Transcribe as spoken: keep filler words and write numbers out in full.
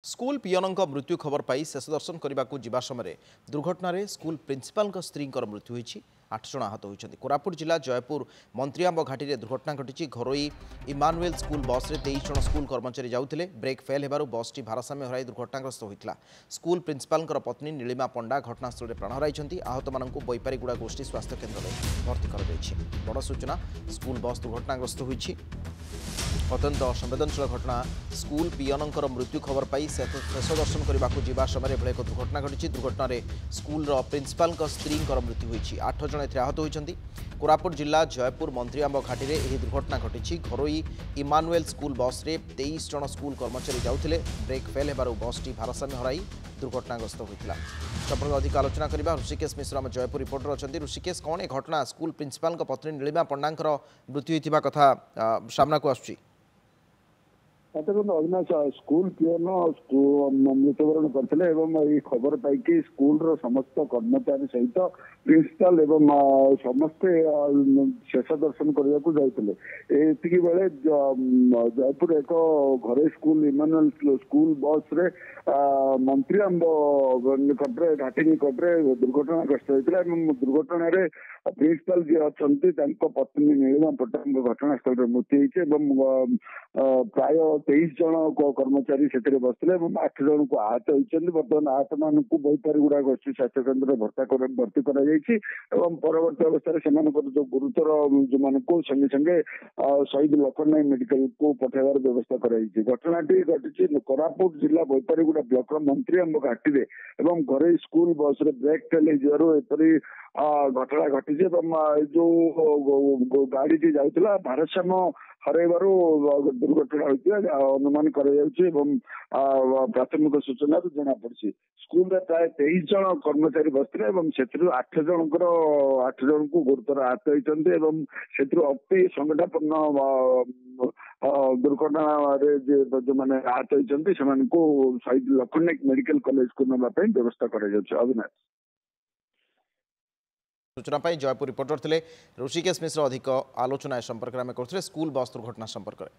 School ପିଅନଙ୍କ ମୃତ୍ୟୁ ଖବର ପାଇ ଶେଷ ଦର୍ଶନ କରିବାକୁ ଯିବା ସମୟରେ ଦୁର୍ଘଟଣାରେ ସ୍କୁଲ ପ୍ରିନ୍ସିପାଲଙ୍କ ସ୍ତ୍ରୀଙ୍କର ମୃତ୍ୟୁ ହୋଇଛି। ଆଠ ଜଣ ଆହତ ହୋଇଛନ୍ତି। କୋରାପୁଟ ଜିଲ୍ଲା ଜୟପୁର ମନ୍ତ୍ରିଆମ୍ବ ଘାଟିରେ ଦୁର୍ଘଟଣା ଘଟିଛି। ଘରୋଇ ଇମାନୁଏଲ ସ୍କୁଲ ବସ୍ରେ ତେଇଶ ଜଣ ସ୍କୁଲ କର୍ମଚାରୀ ଯାଉଥିଲେ। ବ୍ରେକ୍ ଫେଲ୍ ହେବାରୁ ବସ୍ଟି ଭାରସାମ୍ୟ ହରାଇ ଦୁର୍ଘଟଣାଗ୍ରସ୍ତ ହୋଇଥିଲା। ସ୍କୁଲ ପ୍ରିନ୍ସିପାଲଙ୍କର ପତ୍ନୀ ନୀଳିମା ପଣ୍ଡା ଘଟଣାସ୍ଥଳରେ ପ୍ରାଣ ହରାଇଛନ୍ତି। ଆହତମାନଙ୍କୁ ବୈପାରିଗୁଡ଼ା ଗୋଷ୍ଠୀ ସ୍ୱାସ୍ଥ୍ୟ କେନ୍ଦ୍ରରେ ଭର୍ତ୍ତି କରାଯାଇଛି। ବଡ଼ ସୂଚନା, ସ୍କୁଲ ବସ୍ ଦୁର୍ଘଟଣାଗ୍ରସ୍ତ ହୋଇଛି। ଅତ୍ୟନ୍ତ ସମ୍ବେଦନଶୀଳ ଘଟଣା। ସ୍କୁଲ ପିଅନଙ୍କର ମୃତ୍ୟୁ ଖବର ପାଇ ଶେଷ ଦର୍ଶନ କରିବାକୁ ଯିବା ସମୟରେ ଏଭଳି ଏକ ଦୁର୍ଘଟଣା ଘଟିଛି। ଦୁର୍ଘଟଣାରେ ସ୍କୁଲର ପ୍ରିନ୍ସିପାଲଙ୍କ ସ୍ତ୍ରୀଙ୍କର ମୃତ୍ୟୁ ହୋଇଛି। ଆଠ ଜଣ ଏଥିରେ ଆହତ ହୋଇଛନ୍ତି। କୋରାପୁଟ ଜିଲ୍ଲା ଜୟପୁର ମନ୍ତ୍ରିଆମ୍ବ ଘାଟିରେ ଏହି ଦୁର୍ଘଟଣା ଘଟିଛି। ଘରୋଇ ଇମାନୁଏଲ ସ୍କୁଲ ବସ୍ରେ ତେଇଶ ଜଣ ସ୍କୁଲ କର୍ମଚାରୀ ଯାଉଥିଲେ। ବ୍ରେକ୍ ଫେଲ୍ ହେବାରୁ ବସ୍ଟି ଭାରସାମ୍ୟ ହରାଇ ଦୁର୍ଘଟଣାଗ୍ରସ୍ତ ହୋଇଥିଲା। ସମ୍ପର୍କରେ ଅଧିକ ଆଲୋଚନା କରିବା। ଋଷିକେଶ ମିଶ୍ର ଆମ ଜୟପୁର ରିପୋର୍ଟର ଅଛନ୍ତି। ଋଷିକେଶ, କ'ଣ ଏ ଘଟଣା? ସ୍କୁଲ ପ୍ରିନ୍ସିପାଲଙ୍କ ପତ୍ନୀ ନୀଳିମା ପଣ୍ଡାଙ୍କର ମୃତ୍ୟୁ ହୋଇଥିବା କଥା ସାମ୍ନାକୁ ଆସୁଛି। ଦେଖନ୍ତୁ ଅବିନାଶ, ସ୍କୁଲ ପିଅନ ମୃତ୍ୟୁବରଣ କରିଥିଲେ ଏବଂ ଏଇ ଖବର ପାଇକି ସ୍କୁଲର ସମସ୍ତ କର୍ମଚାରୀ ସହିତ ପ୍ରିନ୍ସିପାଲ ଏବଂ ସମସ୍ତେ ଶେଷ ଦର୍ଶନ କରିବାକୁ ଯାଉଥିଲେ। ଏତିକି ବେଳେ ଜୟପୁର ଏକ ଘରୋଇ ସ୍କୁଲ ଇମାନୁଏଲ ସ୍କୁଲ ବସରେ ମନ୍ତ୍ରିଆମ୍ବ ନିକଟରେ, ଘାଟି ନିକଟରେ ଦୁର୍ଘଟଣାଗ୍ରସ୍ତ ହୋଇଥିଲା ଏବଂ ଦୁର୍ଘଟଣାରେ ପ୍ରିନ୍ସିପାଲ ଯିଏ ଅଛନ୍ତି ତାଙ୍କ ପତ୍ନୀ ନୀଳିମା ପଟ୍ଟନାୟକଙ୍କ ଘଟଣାସ୍ଥଳରେ ମୃତ୍ୟୁ ହେଇଛି ଏବଂ ପ୍ରାୟ ତେଇଶ ଜଣ କର୍ମଚାରୀ ସେଥିରେ ବସିଥିଲେ ଏବଂ ଆଠ ଜଣଙ୍କୁ ଆହତ ହୋଇଛନ୍ତି। ବର୍ତ୍ତମାନ ଆହତ ମାନଙ୍କୁ ବୈପାରିଗୁଡ଼ା ଗୋଷ୍ଠୀ ସ୍ୱାସ୍ଥ୍ୟ କେନ୍ଦ୍ରରେ ଭର୍ତ୍ତା ଭର୍ତ୍ତି କରାଯାଇଛି ଏବଂ ପରବର୍ତ୍ତୀ ଅବସ୍ଥାରେ ସେମାନଙ୍କର ଯୋଉ ଗୁରୁତର ଯୋଉମାନଙ୍କୁ ସଙ୍ଗେ ସଙ୍ଗେ ଶହୀଦ ଲକ୍ଷ୍ମଣ ନାୟକ ମେଡିକାଲକୁ ପଠାଇବାର ବ୍ୟବସ୍ଥା କରାଯାଇଛି। ଘଟଣାଟି ଘଟିଛି କୋରାପୁଟ ଜିଲ୍ଲା ବୈପାରିଗୁଡ଼ା ବ୍ଲକର ମନ୍ତ୍ରିଆମ୍ବ ଘାଟିରେ ଏବଂ ଘରୋଇ ସ୍କୁଲ ବସରେ ବ୍ରେକ୍ ଫେଲ୍ ହେଇଯିବାରୁ ଏପରି ଘଟଣା ଘଟିଛି ଏବଂ ଯୋଉ ଗାଡିଟି ଯାଉଥିଲା ଭାରସାମ୍ୟ ହରାଇବାରୁ ଦୁର୍ଘଟଣା ହୋଇଥିବା ଅନୁମାନ କରାଯାଉଛି ଏବଂ ପ୍ରାଥମିକ ସୂଚନାରୁ ଜଣାପଡିଛି। ସ୍କୁଲରେ ପ୍ରାୟ ତେଇଶ ଜଣ କର୍ମଚାରୀ ବସିଥିଲେ ଏବଂ ସେଥିରୁ ଆଠ ଜଣଙ୍କର ଆଠ ଜଣଙ୍କୁ ଗୁରୁତର ଆହତ ହୋଇଛନ୍ତି ଏବଂ ସେଥିରୁ ଅତି ସଙ୍କଟାପନ୍ନ ଦୁର୍ଘଟଣାରେ ଯୋଉମାନେ ଆହତ ହୋଇଛନ୍ତି ସେମାନଙ୍କୁ ଶହୀଦ ଲକ୍ଷ୍ମଣ ନାୟକ ମେଡିକାଲ କଲେଜକୁ ନେବା ପାଇଁ ବ୍ୟବସ୍ଥା କରାଯାଉଛି। ଅବିନାଶ, ସୂଚନା ପାଇଁ ଜୟପୁର ରିପୋର୍ଟର ଥିଲେ ଋଷିକେଶ ମିଶ୍ର। ଅଧିକ ଆଲୋଚନା ଏ ସମ୍ପର୍କରେ ଆମେ କରୁଥିଲେ, ସ୍କୁଲ ବସ୍ ଦୁର୍ଘଟଣା ସମ୍ପର୍କରେ।